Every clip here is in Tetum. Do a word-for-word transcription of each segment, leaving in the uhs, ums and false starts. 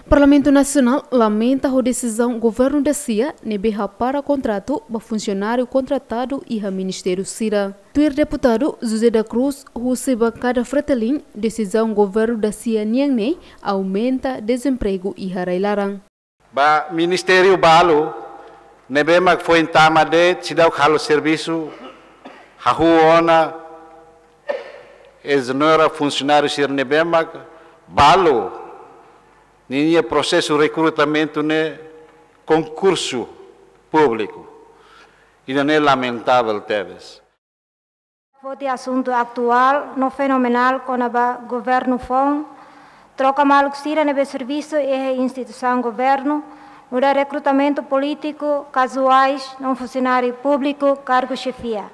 Parlamentu Nasionál lamenta ho desizaun governu dasia ne'ebé hapara kontratu ba funsionáriu kontratadu iha ministériu sira. Tuir deputadu José da Cruz, husi bankada Fretilin, desizaun governu dasia nian ne'e aumenta dezempregu iha rai-laran. Ba ministériu balu ne'ebé mak foin tama de'it, seidauk halo servisu, hahú ona, ezonera funsionáriu sira ne'ebé mak balu, ninia prosesu rekrutamentu ne'e konkursu públiku. Ida-ne'e lamentavel tebes. Foti asuntu atuál no fenomenál kona-ba governu foun troka maluk sira ne'ebé servisu iha instituisaun governu, nu'udar rekrutamentu polítiku, kazuais, no funsionáriu públiku, kargu xefia.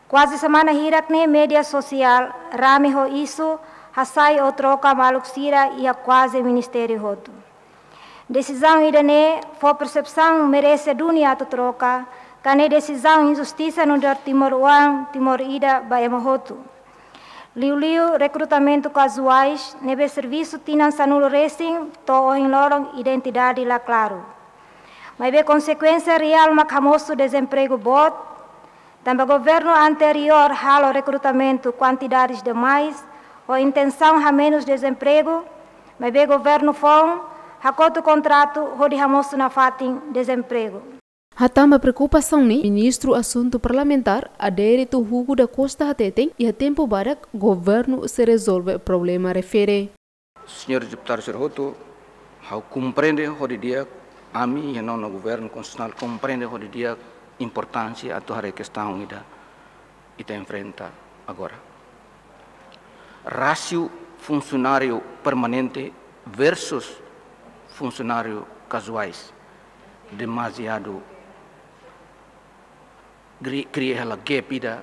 Kuaze semana hirak ne'e média sosiál rame ho isu hasai ou troka maluk sira iha kuaze ministériu hotu. Desizaun ida-ne'e fó persepsaun merese duni atu troka, ka ne'e desizaun injustisa nu'udar timoroan, Timor ida ba ema hotu. Liuliu rekrutamentu kazuais ne'ebé servisu tinan sanulu resin to'o ohin loron identidade la klaru. Maibé konsekuénsia reál mak hamosu dezempregu boot, tanba governu anteriór halo rekrutamentu kuantidades demais, ho intensaun hamenus dezempregu, maibé governu foun hakotu kontratu hodi hamosu nafatin dezempregu. Hatán ba preokupasaun ne'e, Ministru Asuntu Parlamentár, Adérito Hugo da Costa hateten, iha tempu badak governu sei rezolve problema refere. Señór deputadu sira hotu, ha'u komprende ho di'ak, ami iha nonu governu konstitusionál komprende ho di'ak importánsia atu haree kestaun ida ita enfrenta agora. Rásiu funsionáriu permanente versus funsionáriu kazuais demaziadu kri-, kria hela gap ida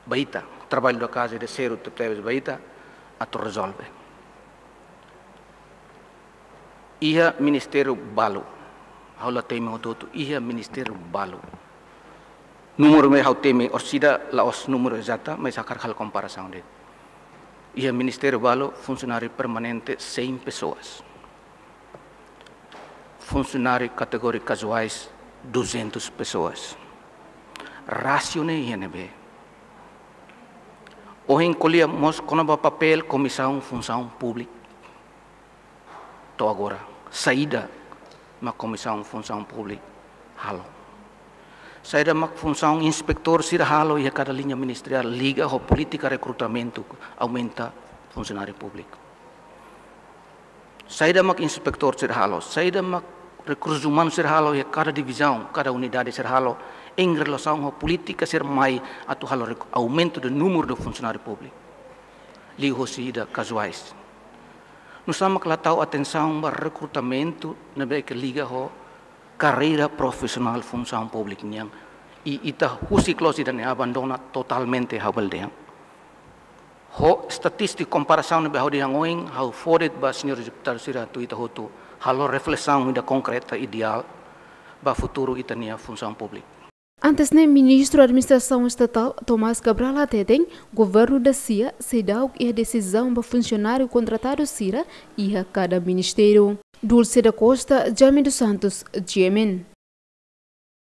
ba ita, traballu da kaza ida sériu tebetebes ba ita atu rezolve. Iha ministériu balu, ha'u la temi hotu-hotu, iha ministériu balu. Númeru ne'e ha'u temi orsida la'ós númeru ezata, mas hakarak halo komparasaun de'it. Iha ministériu balu, funsionáriu permanente cem pessoas. Funsionáriu kategoria kazuais, duzentas pessoas. Rásiu ne'e iha ne'ebé? Ohin ko'alia mós kona-ba papél Komisaun Funsaun Públika. To'o agora, saida mak Komisaun Funsaun Públika halo? Saida mak funsaun inspetór sira halo iha kada liña ministeriál liga ho polítika rekrutamentu, aumenta funsionáriu públiku? Saida mak inspetór sira halo, saida mak rekursus umanus sira halo iha kada divizaun, kada unidade sira halo, em relasaun ho polítika sira mai atu halo rek-, aumento de número de funsionáriu públiku? Liuhosi ida kazuais. Nusá mak la tau atensaun ba rekrutamentu ne'ebé ke liga ho karreira profisionál funsaun públika nian. I ita husik loos ida-ne'e, abandona totalmente, ha'u bele dehan. Ho estatístika komparasaun ne'ebé ha'u dehan ohin, ha'u fó de'it ba señór deputadu sira atu ita hotu halo reflesaun ida konkreta ideál ba futuru ita-nia funsaun públika. Antes ne'e, Ministru Administrasaun Estatál, Tomás Cabral hateten, governu dasia seidauk iha desizaun ba funsionáriu kontratadu sira iha kada ministériu. Dulce da Costa, Jaime dos Santos, G M N.